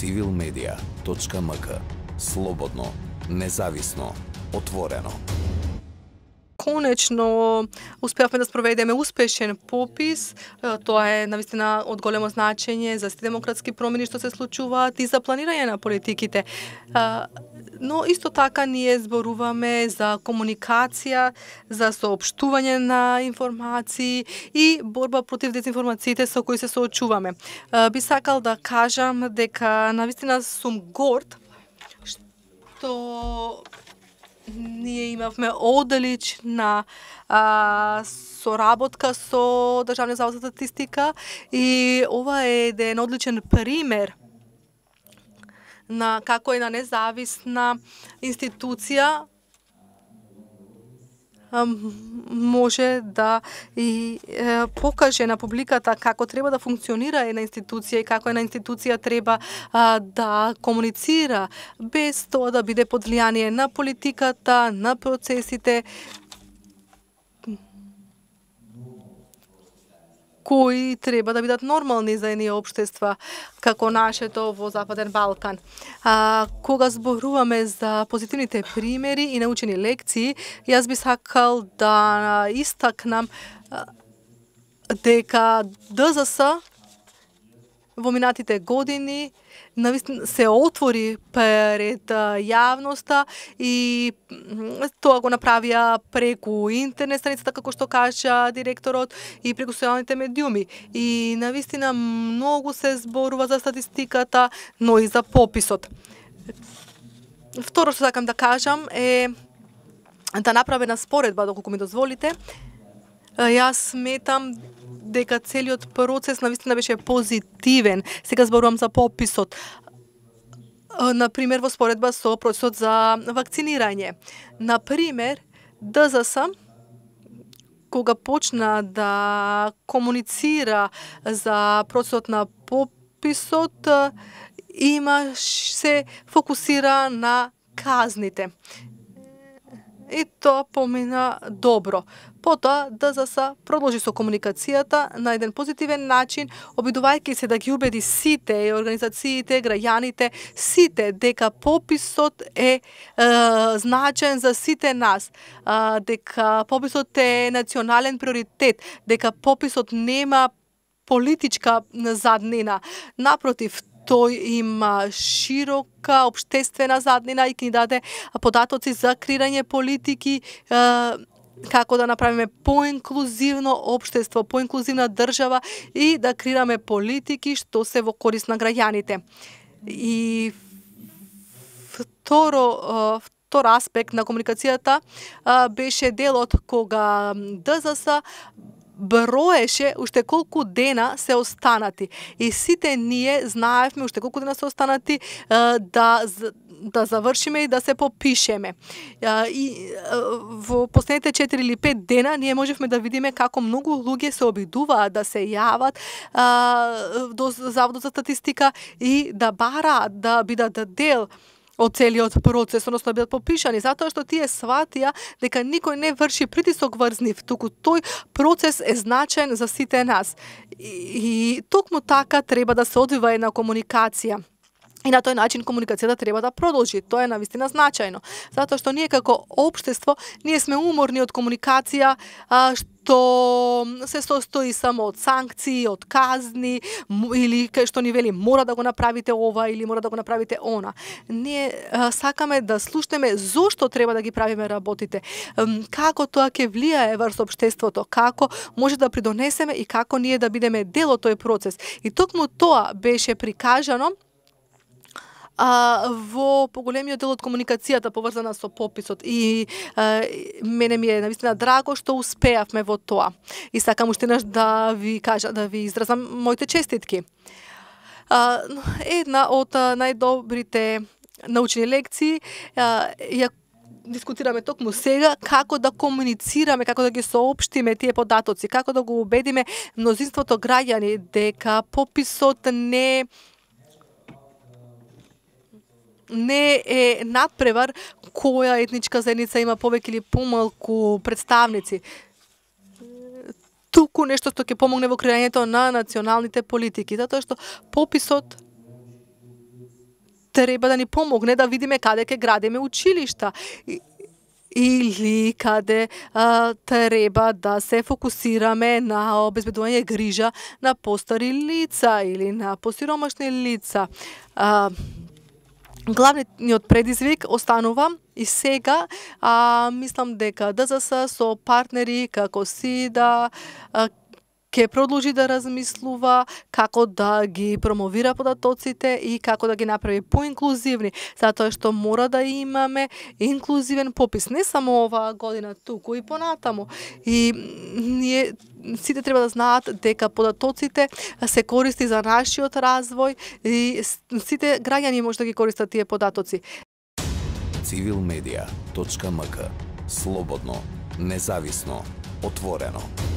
civilmedia.mk. Слободно, независно, отворено. Конечно успеавме да спроведеме успешен попис. Тоа е навистина од големо значење за сите демократски промени што се случуваат и за планирање на политиките. Но исто така ние зборуваме за комуникација, за соопштување на информации и борба против дезинформациите со кои се соочуваме. Би сакал да кажам дека навистина сум горд што ние имавме одлична соработка со Државниот завод за статистика и ова е еден одличен пример на како една независна институција може да и покаже на публиката како треба да функционира една институција и како една институција треба да комуницира без тоа да биде под влијание на политиката, на процесите кои треба да бидат нормални за едни општества како нашето во Западен Балкан. Кога зборуваме за позитивните примери и научени лекции, јас би сакал да истакнам дека ДЗС во минатите години се отвори пред јавноста и тоа го направија преку интернет страницата, како што кажа директорот, и преку социјалните медиуми. И навистина многу се зборува за статистиката, но и за пописот. Второ што сакам да кажам е да направам една споредба, доколку ми дозволите. Јас сметам дека целиот процес навистина беше позитивен. Сега зборувам за пописот. Например, во споредба со процесот за вакцинирање. Например, ДЗС, кога почна да комуницира за процесот на пописот, се фокусира на казните. И тоа помина добро. Потоа ДЗС продолжи со комуникацијата на еден позитивен начин, обидувајќи се да ги убеди сите организациите, граѓаните, сите дека пописот е значен за сите нас, дека пописот е национален приоритет, дека пописот нема политичка заднина. Напротив, тој има широка општествена заднина и ќе ни даде податоци за креирање политики, како да направиме поинклузивно општество, поинклузивна држава и да креираме политики што се во корист на граѓаните. И втор аспект на комуникацијата беше делот кога ДЗС броеше уште колку дена се останати. И сите ние знаевме уште колку дена се останати да завршиме и да се попишеме. И во последните 4 или 5 дена ние можевме да видиме како многу луѓе се обидуваат да се јават до Заводот за статистика и да бараат да бидат дел од целиот процес, односно да бидат попишани, затоа што тие сватија дека никој не врши притисок врз нив, туку тој процес е значен за сите нас. И токму така треба да се одвива една комуникација. И на тој начин комуникацијата треба да продолжи. Тоа е навистина значајно. Затоа што ние како општество, ние сме уморни од комуникација што се состои само од санкции, од казни, или кај што ни вели мора да го направите ова или мора да го направите она. Ние сакаме да слушнеме зошто треба да ги правиме работите, како тоа ќе влијае врз општеството, како може да придонесеме и како ние да бидеме дел од тој процес. И токму тоа беше прикажано во поголемиот дел од комуникацијата поврзана со пописот и мене ми е навистина драго што успеавме во тоа. И сакам уште еднаш да ви изразам моите честитки. Една од најдобрите научни лекции ја дискутираме токму сега, како да комуницираме, како да ги соопштиме тие податоци, како да го убедиме мнозинството граѓани дека пописот не е надпревар која етничка заедница има повеќе или помалку представници. Туку нешто што ќе помогне во креањето на националните политики, затоа што пописот треба да ни помогне да видиме каде ќе градиме училишта или каде треба да се фокусираме на обезбедување грижа на постари лица или на посиромашни лица. Главниот предизвик останува и сега, мислам дека ДЗС со партнери како СИДА ќе продолжи да размислува како да ги промовира податоците и како да ги направи поинклузивни, затоа што мора да имаме инклузивен попис, не само оваа година, туку и понатаму. И ние сите треба да знаат дека податоците се користи за нашиот развој и сите граѓани може да ги користат тие податоци. Civilmedia.mk. Слободно, независно, отворено.